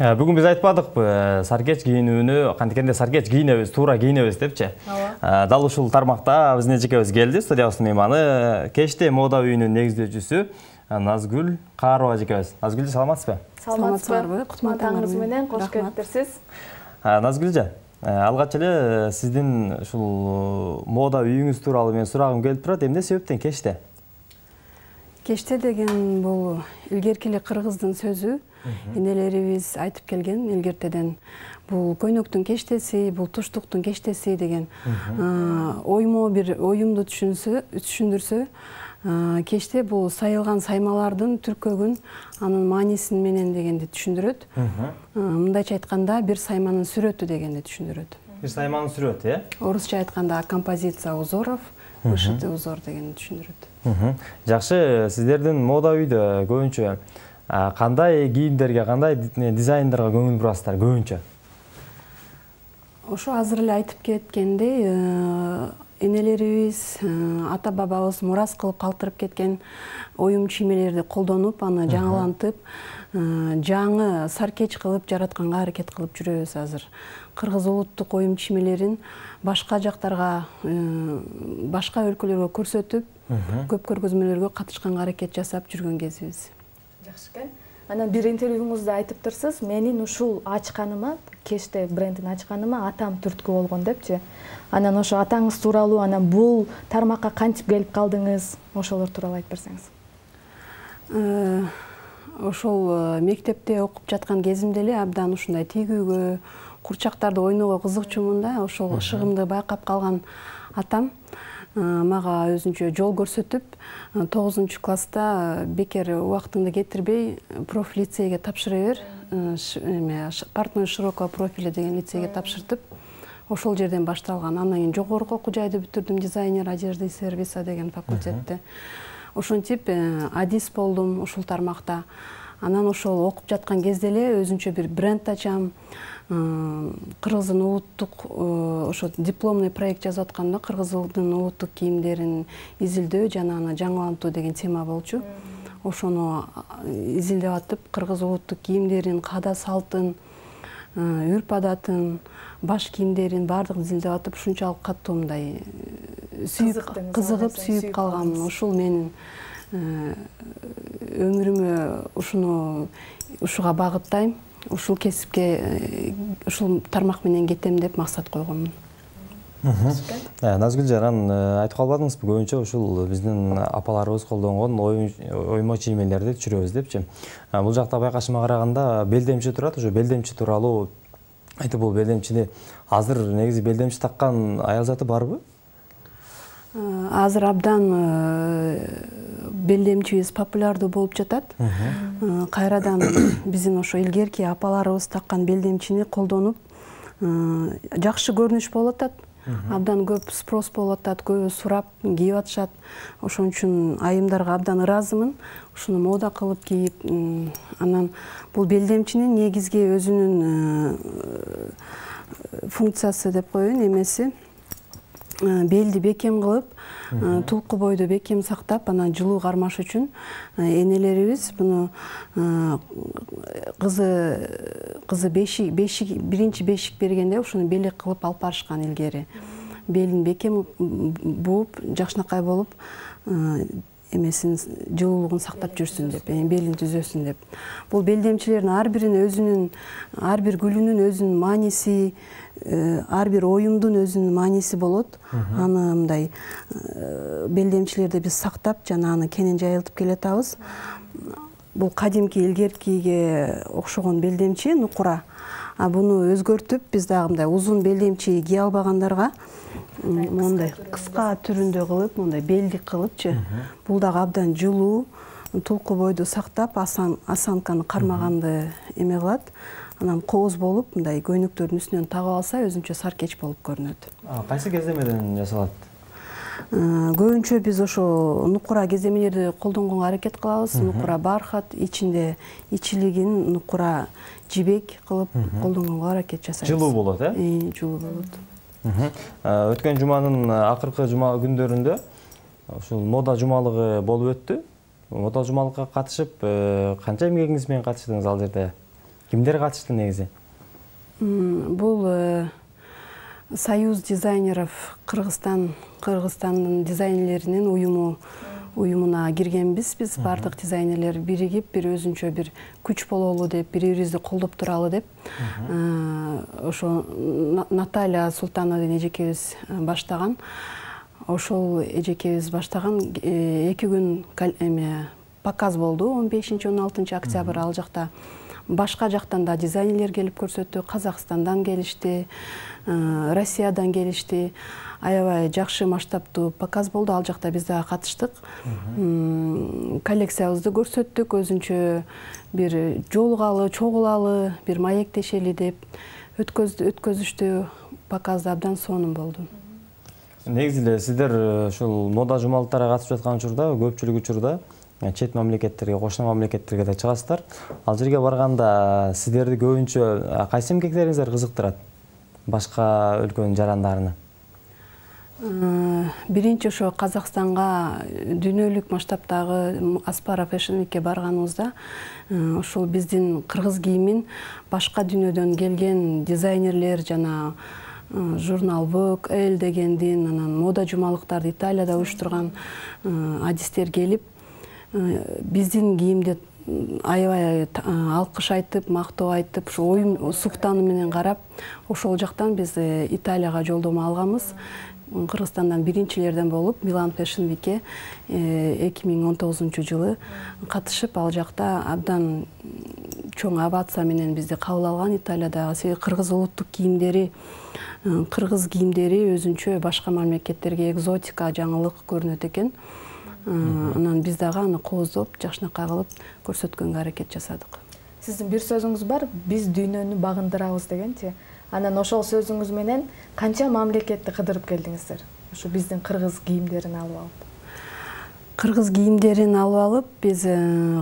Бүгүн биз айтпадыкпы, саркеч кийинүүнү кантикенде саркеч кийинебиз, туура кийинебиз депчи. Дал ушул тармакта биздин эжекебиз келди, студиябыздын мейманы, Кечте мода үйүнүн негиздөөчүсү Назгүл Каарова эжекебиз. Назгүл, саламатсызбы? Саламатсызбы? Кутман менен кош келипсиз. Назгүл эже, алгач эле сиздин ушул мода үйүңүз тууралуу мен сурагым келип турат. Эмне себептен Кечте? Кечте деген бул илгерки эле кыргыздын сөзү. Энелерибиз айтып келген илгертеден. Бул көйнөктүн кештеси, бул туштуктун кештеси деген оймо бир оюмду түшүндүрсө, кечте бул сайылган саймалардын түркөгүн, анын маанисин менен дегенди түшүндүрөт. Мындайча айтканда, бир сайманын сүрөтү дегенди түшүндүрөт. Бир сайманын сүрөтү, Орусча айтканда композиция узоров, вышитый узор дегенди түшүндүрөт. Жакшы, сиздердин мода үйдө көбүнчө кандай кийимдерге, кандай дизайндарга көңүл бурасыздар көбүнчө? Ошо азыр эле айтып кеткендей, энелерибиз, ата бабабыз мурас кылып калтырып кеткен оюм чиймелерди колдонуп, аны жаңылантып, жаңы саркеч кылып жаратканга аракет кылып жүрөбүз азыр. Кыргыз улуттук оюм чиймелерин башка жактарга, башка өлкөлөргө көрсөтүп, көп көргөзмөлөргө катышканга аракет жасап жүргөн кезибиз. Жакшы экен. Анан бир интервьюңузда айтыптырсыз, менин ушул ачканыма, Кечте брендин ачканыма атам түрткү болгон депчи. Анан ошо атаңыз тууралуу, анан бул тармакка кантип келип калдыңыз? Ошолор тууралуу айтып берсеңиз. Ошол мектепте окуп жаткан кезимде эле абдан ушундай тигүүгө, курчактарды ойноого кызыкчумун да. Ошол ышыгымды байкап калган атам мага өзүнчө жол көрсөтүп, 9-класста бекер убактыңды кетирбей профиль лицейге тапшыра бер, партной широкого профиля деген лицейге тапшыртып, ошол жерден башталган. Андан кийин жогорку окуу жайды бүтүрдүм, дизайнер одежды и сервиса деген факультетти. Ошентип адис болдум ушул тармакта. Анан ошол окуп жаткан кезде эле өзүнчө бир бренд ачам. Кыргыздын улуттук ошо дипломный проект жазып атканда кыргыздын улуттук кийимдерин изилдөө жана аны жаңылантуу деген тема болчу. Ошону изилдеп атып, кыргыз улуттук кийимдерин, каада салтын, үрп адатын, баш кийимдерин баардыгын изилдеп атып, ушунчалык катуу мындай кызыгып, сүйүп калганмын. Ушул менин өмүрүмө ушуга багыттайм. Ушул кесипке, ушул тармак менен кетем деп максат койгонмун. Назгүл жаран айтып калбадыңызбы, көбүнчө ушул биздин апаларыбыз колдонгон оймо чиймелерди түшүрөбүз депчи. Бул жакта байкашыма караганда белдемчи турат, ошо белдемчи тууралуу айтып, бул белдемчини азыр негизи белдемчи таккан аял заты барбы? Азыр абдан белдемчибиз популярдуу болуп жатат. Кайрадан биздин ошо илгерки апаларыбыз таккан белдемчини колдонуп, жакшы көрүнүш болуп атат. Абдан көп спрос болуп атат, көбү сурап кийип атышат. Ошон үчүн айымдарга абдан ыраазымын. Ушуну мода кылып кийип, анан бул белдемчинин негизги өзүнүн функциясы деп коеюн, эмеси белди бекем кылып, тулку бойду бекем сактап, анан жылуу кармаш үчүн энелерибиз буну кызы биринчи бешик бергенде ушуну белек кылып алып барышкан илгери. Белин бекем бууп, жакшынакай болуп, эмесин жылуулугун сактап жүрсүн деп, белин түзөсүн деп. Бул белдемчилердин ар бир гүлүнүн өзүнүн мааниси, ар бир оюмдун өзүнүн мааниси болот. Аны мындай белдемчилерди биз сактап, жана аны кенен жайылтып келатабыз. Бул кадимки илгеркиге окшогон белдемчи нукура. Буну өзгөртүп, биз дагы мындай узун белдемчи кие албагандарга мондай кыска түрүндө кылып, мондай белдик кылыпчы. Бул дагы абдан жылуу, тулку бойду сактап, осанканы кармаганды эме кылат. Анан кооз болуп, мындай көйнөктөрдүн үстүнөн тагып алса, өзүнчө саркеч болуп көрүнөт. Кайсы кеземеден жасалат? Көбүнчө биз ошо нукура кеземелерди колдонгонго аракет кылабыз. Нукура бархат, ичинде ичилигин нукура жибек кылып колдонгонго аракет жасайбыз. Жылуу болот, Жылуу болот. Өткөн жуманын акыркы жума күндөрүндө ушул мода жумалыгы болуп өттү. Мода жумалыкка катышып, канча эмгегиңиз менен катыштыңыз ал жерде? Кимдер катышты негизи? Бул Союз дизайнеров Кыргызстандын дизайнерлеринин уюмуна киргенбиз. Биз бардык дизайнерлер биригип, бир өзүнчө бир күч бололу деп, бири-бирибизди колдоп туралы деп, ошо Наталья Султанова деген эжекебиз баштаган. Ошол эжекебиз баштаган 2 күн показ болду. 15-16 октябрь ал жакта башка жактан да дизайнерлер келип көрсөттү. Казакстандан келишти, Россиядан келишти. Аябай жакшы масштабтуу показ болду. Ал жакта биз дагы катыштык. Коллекциябызды көрсөттүк. Өзүнчө бир жолугалы, чогулалы, бир маектешели деп өткөзүштү. Показда абдан сонун болду. Негизи эле сиздер ушул мода жумалыктарга катышып жаткан учурда көпчүлүк учурда чет мамлекеттерге, кошуна мамлекеттерге да чыгасыздар. Ал жерге барганда сиздерди көбүнчө кайсы эмгектериңиздер кызыктырат башка өлкөнүн жарандарына? Биринчи ошо Казакстанга дүйнөлүк масштабтагы Аспара Fashion Week'ке барганыбызда ошол биздин кыргыз кийимин башка дүйнөдөн келген дизайнерлер жана журнал Vogue, Elle дегендин, анан мода жумалыктарды Италияда уюштурган адистер келип, биздин кийимди аябай алкыш айтып, мактоо айтып, ошо оюн суктануу менен карап, ошол жактан биз Италияга жолдомо алганбыз. Кыргызстандан биринчилерден болуп, Milan Fashion Week'ке 2019-жылы катышып, ал жакта абдан чоң овация менен бизди кабыл алган Италиядагы. Себеби кыргыз улуттук кийимдери, кыргыз кийимдери өзүнчө башка мамлекеттерге экзотика, жаңылык көрүнөт экен. Анан биз дагы аны кооздоп, жакшынакай кылып көрсөткөнгө аракет жасадык. Сиздин бир сөзүңүз бар, биз дүйнөнү багындырабыз дегенчи. Анан ошол сөзүңүз менен канча мамлекетти кыдырып келдиңиздер? Ошо биздин кыргыз кийимдерин алып алып. Кыргыз кийимдерин алып алып, биз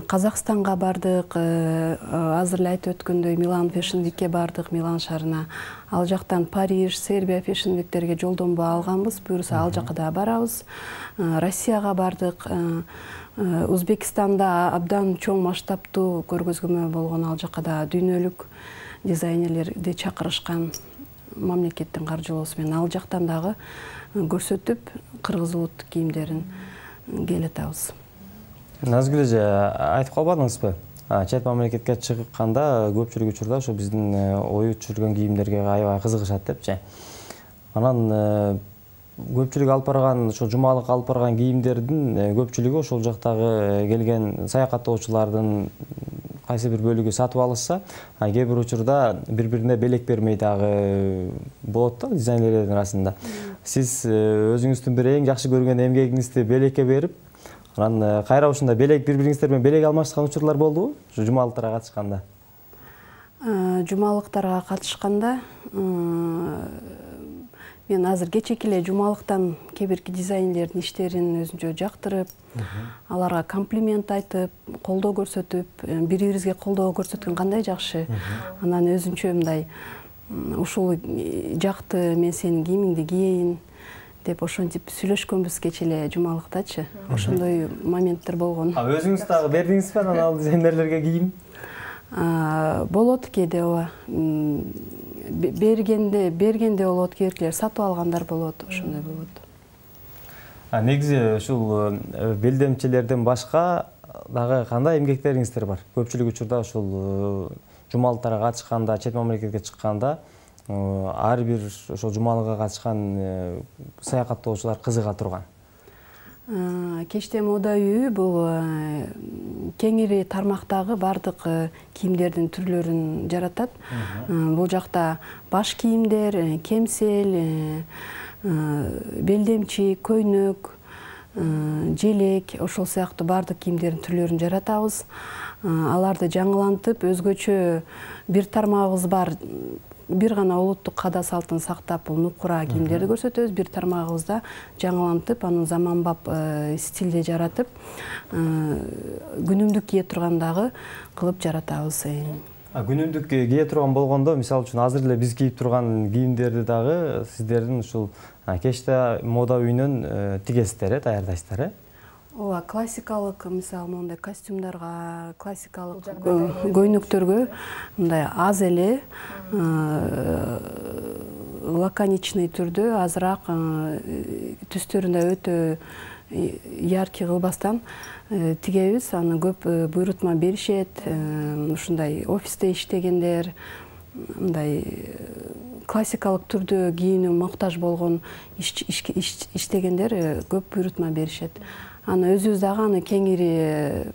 Казакстанга бардык, азыр эле айтып өткөндөй Milan Fashion Week'ке бардык, Милан шаарына. Ал жактан Париж, Сербия Fashion Week'терге жолдомо алганбыз. Буюрса ал жакка да барабыз. Россияга бардык. Өзбекстанда абдан чоң масштабтуу көргөзмө болгон, ал жакка да дүйнөлүк дизайнерлерди чакырышкан мамлекеттин каржылоосу менен ал жактан дагы көрсөтүп, кыргыз улуттук кийимдерин келатабыз. Назгүл эже, айтып калбадыңызбы? Чет мамлекетке чыкканда көпчүлүк учурда ошо биздин оюп жүргөн кийимдерге аябай кызыгышат депчи. Анан көпчүлүк алып барган, ошо жумалык алып барган кийимдердин көпчүлүгү ошол жактагы келген саякаттоочулардын кайсы бир бөлүгү сатып алышса, кээ бир учурда бири-бирине белек бермей дагы болот да дизайнерлердин арасында. Сиз өзүңүздүн бир эң жакшы көргөн эмгегиңизди белекке берип, анан кайра ушунда белек бири-бириңиздер менен белек алмашкан учурлар болдубу? Ушу жумалыктарга катышканда. Жумалыктарга катышканда мен азыр кечеки эле жумалыктан кээ бирки дизайнерлердин иштерин өзүнчө жактырып, аларга комплимент айтып, колдоо көрсөтүп, бири-бирибизге колдоо көрсөткөн кандай жакшы. Анан өзүнчө мындай ушул жакты, мен сенин кийимиңди кийейин деп ошентип сүйлөшкөнбүз кече эле жумалыктачы. Ошондой моменттер болгон. Өзүңүз дагы бердиңизби анан ал дизайнерлерге кийим? Болот кээде, ооба. Бергенде болот, кээбиркилер сатып алгандар болот, ошондой болот. Негизи ушул белдемчилерден башка дагы кандай эмгектериңиздер бар? Көпчүлүк учурда ушул жумалыктарга катышканда, чет мамлекетке чыкканда ар бир ошол жумалыга катышкан саякаттоочулар кызыга турган. Кечте мода үйү бул кеңири тармактагы бардык кийимдердин түрлөрүн жаратат. Бул жакта баш кийимдер, кемсел, белдемчи, көйнөк, желек, ошол сыяктуу бардык кийимдердин түрлөрүн жаратабыз. Аларды жаңылантып, өзгөчө бир тармагыбыз бар. Бир гана улуттук када салтын сактап, бул нукура кийимдерди көрсөтөбүз. Бир тармагыбызда жаңылантып, анын заманбап стилде жаратып, күнүмдүк кие тургандагы кылып жаратабыз. Күнүмдүк кие турган болгондо, мисалы үчүн азыр эле биз кийип турган кийимдерди дагы сиздердин ушул кечте мода үйүнөн тигесиздер, даярдайсыздар, ооба, классикалык мисалы моундай костюмдарга, классикалык көйнөктөргө мындай аз эле лаконичный түрдө азыраак түстөрүндө өтө яркий кылбастан тигебиз. Аны көп буйрутма беришет. Ушундай офисте иштегендер, мындай классикалык түрдө кийүүнү муктаж болгон иштегендер көп буйрутма беришет. Аны өзүбүз дагы аны кеңири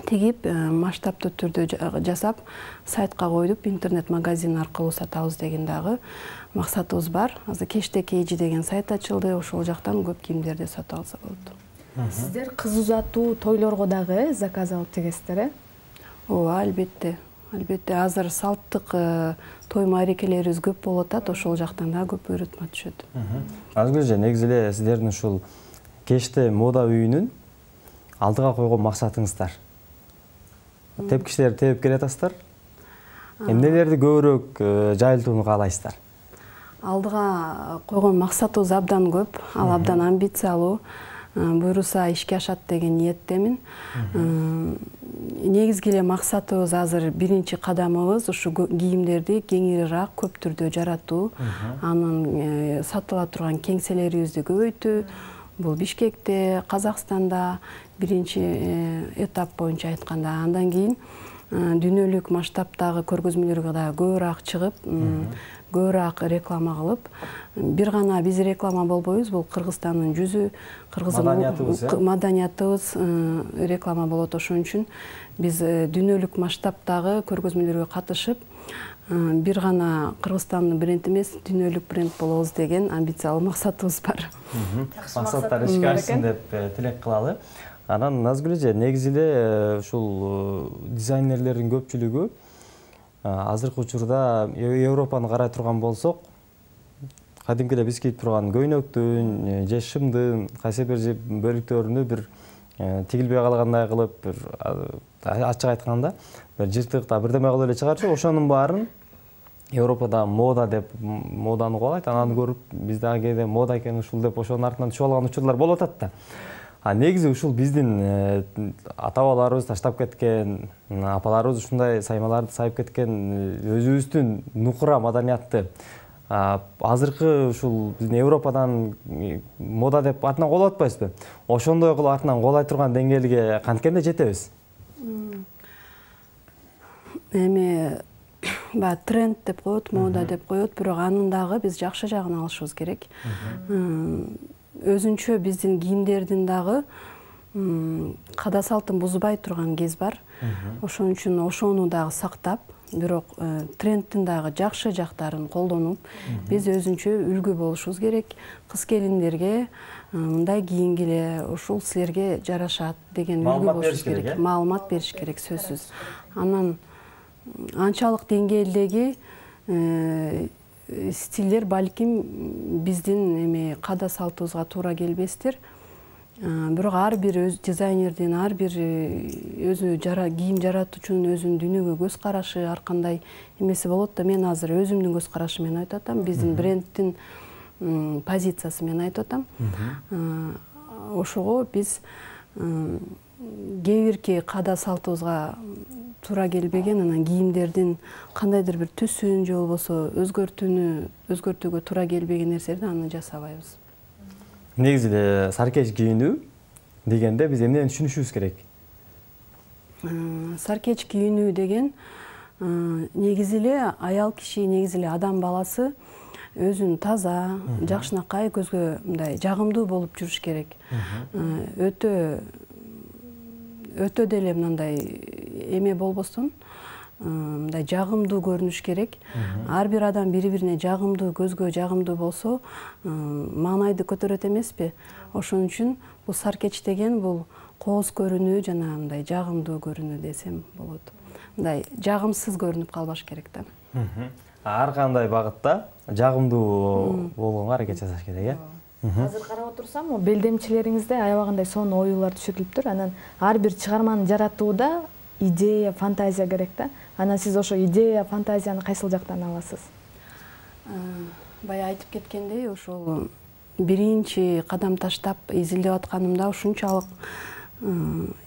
тигип, масштабтуу түрдө жасап, сайтка коюп, интернет магазин аркылуу сатабыз деген дагы максатыбыз бар. Азыр Кечте Кейжи деген сайт ачылды, ошол жактан көп кийимдерди сатып алса болот. Сиздер кыз узатуу тойлорго дагы заказ алып тигесиздер, э? Ооба, албетте. Албетте, азыр салттык той маарекелерибиз көп болуп атат, ошол жактан да көп буйрутма түшөт. Азгүлжан, негизи эле сиздердин ушул Кечте мода үйүнүн алдыга койгон максатыңыздар. Тепкичтерди тебип келатасыздар. Эмнелерди көбүрөөк жайылтууну каалайсыздар? Алдыга койгон максатыбыз абдан көп, ал абдан амбициялуу. Буйруса ишке ашат деген ниеттемин. Негизги эле максатыбыз азыр биринчи кадамыбыз ушу кийимдерди кеңирираак көп түрдө жаратуу, анын сатыла турган кеңселерибизди көбөйтүү. Бул Бишкекте, Казакстанда биринчи этап боюнча айтканда, андан кийин дүйнөлүк масштабтагы көргөзмөлөргө да көбүрөөк чыгып, көбүрөөк реклама кылып, бир гана биз реклама болбойбуз, бул Кыргызстандын жүзү, маданиятыбыз реклама болот. Ошон үчүн биз дүйнөлүк масштабтагы көргөзмөлөргө катышып, бир гана Кыргызстандын бренд эмес, дүйнөлүк бренд болобуз деген амбициялуу максатыбыз бар. Максаттар ишке ашсын деп тилек кылалы. Анан Назгүл, негизи эле ушул дизайнерлердин көпчүлүгү азыркы учурда Европаны карай турган болсок, кадимки эле биз кийип турган көйнөктүн же шымдын кайсы бир бөлүктөрүнү бир тигилбей калгандай кылып, бир ачык айтканда бир жыртыкта бирдеме кылып эле чыгарчу. Ошонун баарын Европада мода деп моданы кубалайт. Анан көрүп биз дагы кээде мода экен ушул деп ошонун артынан түшүп алган учурлар болуп атат да. Негизи ушул биздин ата-бабаларыбыз таштап кеткен, апаларыбыз ушундай саймаларды сайып кеткен өзүбүздүн нукура маданиятты азыркы ушул биздин Европадан мода деп артынан колоп атпайбызбы? Ошондой кылып артынан колой турган деңгээлге канткенде жетебиз? Эми тренд деп коет, мода деп коет, бирок анын дагы биз жакшы жагын алышыбыз керек. Өзүнчө биздин кийимдердин дагы када салтын бузбай турган кез бар. Ошон үчүн ошону дагы сактап, бирок трендтин дагы жакшы жактарын колдонуп, биз өзүнчө үлгү болушубуз керек. Кыз келиндерге мындай кийингиле, ушул силерге жарашат деген үлгү болушубуз керек. Маалымат бериш керек, сөзсүз. Анан анчалык деңгээлдеги стилдер балким биздин эми када салтыбызга туура келбестир. Бирок ар бир өз дизайнердин, ар бир өзү кийим жаратуучунун өзүнүн дүйнөгө көз карашы ар кандай эмеси болот да. Мен азыр өзүмдүн көз карашы менен айтып атам, биздин брендтин позициясы менен айтып атам. Ошого биз кээ бирки када салтыбызга туура келбеген анан кийимдердин кандайдыр бир түсүн же болбосо өзгөртүүгө туура келбеген нерселерди аны жасабайбыз. Негизи эле саркеч кийинүү дегенде биз эмнени түшүнүшүбүз керек? Саркеч кийинүү деген негизи эле аял киши, негизи эле адам баласы өзүн таза, жакшынакай, көзгө мындай жагымдуу болуп жүрүш керек. Өтө деле мындай эме болбостон, мындай жагымдуу көрүнүш керек. Ар бир адам бири-бирине жагымдуу, көзгө жагымдуу болсо, маанайды көтөрөт эмеспи? Ошон үчүн бул саркеч деген бул кооз көрүнүү жана мындай жагымдуу көрүнүү десем болот. Мындай жагымсыз көрүнүп калбаш керек да. Ар кандай багытта жагымдуу болгонго аракет жасаш керек, э? Азыр карап отурсам, белдемчилериңизде аябагандай сонун оюулар түшүрүлүптүр. Анан ар бир чыгарманы жаратууда идея, фантазия керек да. Анан сиз ошо идея, фантазияны кайсыл жактан аласыз? Бая айтып кеткендей, ошол биринчи кадам таштап изилдеп атканымда ушунчалык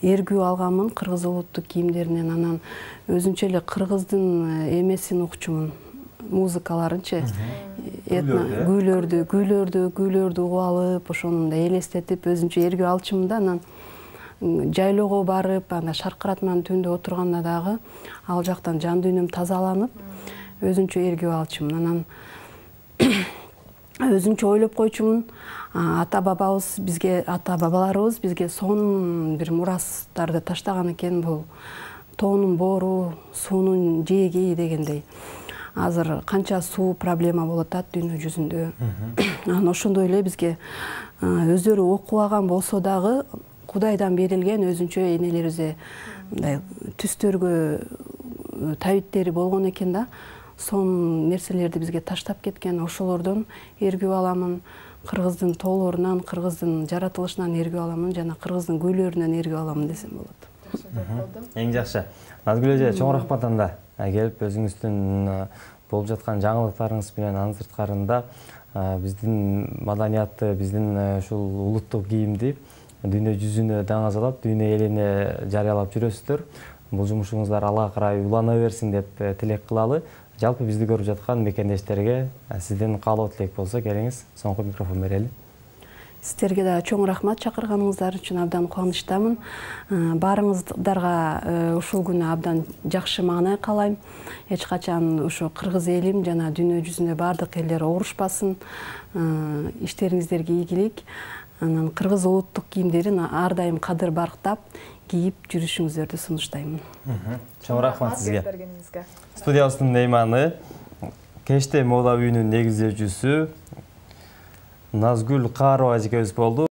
эргүү алганмын кыргыз улуттук кийимдеринен. Анан өзүнчө эле кыргыздын эмесин укчумун, музыкаларынчы, күүлөрдү угуп алып, ошону мындай элестетип өзүнчө эргүү алчумун да. Анан жайлоого барып, анда шаркыратманын түбүндө отурганда дагы ал жактан жан дүйнөм тазаланып, өзүнчө эргүү алчумун. Анан өзүнчө ойлоп койчумун, ата бабаларыбыз бизге сонун бир мурастарды таштаган экен, бул тоонун боору, суунун жээги дегендей. Азыр канча суу проблема болуп атат дүйнө жүзүндө. Анан ошондой эле бизге өздөрү окубаган болсо дагы Кудайдан берилген өзүнчө энелерибизде мындай түстөргө табиттери болгон экен да. Сонун нерселерди бизге таштап кеткен. Ошолордон эргүү аламын. Кыргыздын тоолорунан, кыргыздын жаратылышынан эргүү аламын жана кыргыздын күүлөрүнөн эргүү аламын десем болот. Эң жакшы. Назгүл эже, чоң рахмат анда келип өзүңүздүн болуп жаткан жаңылыктарыңыз менен анын сырткарында биздин маданиятты, биздин ушул улуттук кийимди дүйнө жүзүнө даңазалап, дүйнө элине жарыялап жүрөсүздөр. Бул жумушуңуздар алга карай улана берсин деп тилек кылалы. Жалпы бизди көрүп жаткан мекендештерге сизден каалоо тилек болсо келиңиз, соңку микрофон берели. Сиздерге да чоң рахмат чакырганыңыздар үчүн, абдан кубанычтамын. Баарыңыздарга ушул күнү абдан жакшы маанай каалайм. Эч качан ошо кыргыз элим жана дүйнө жүзүндө баардык элдер оорушпасын. Иштериңиздерге ийгилик. Анан кыргыз улуттук кийимдерин ар дайым кадыр барктап кийип жүрүшүңүздөрдү сунуштаймын. Чоң рахмат сизге. Студиябыздын мейманы Кечте мода үйүнүн негиздөөчүсү Назгүл Каарова эжекебиз болду.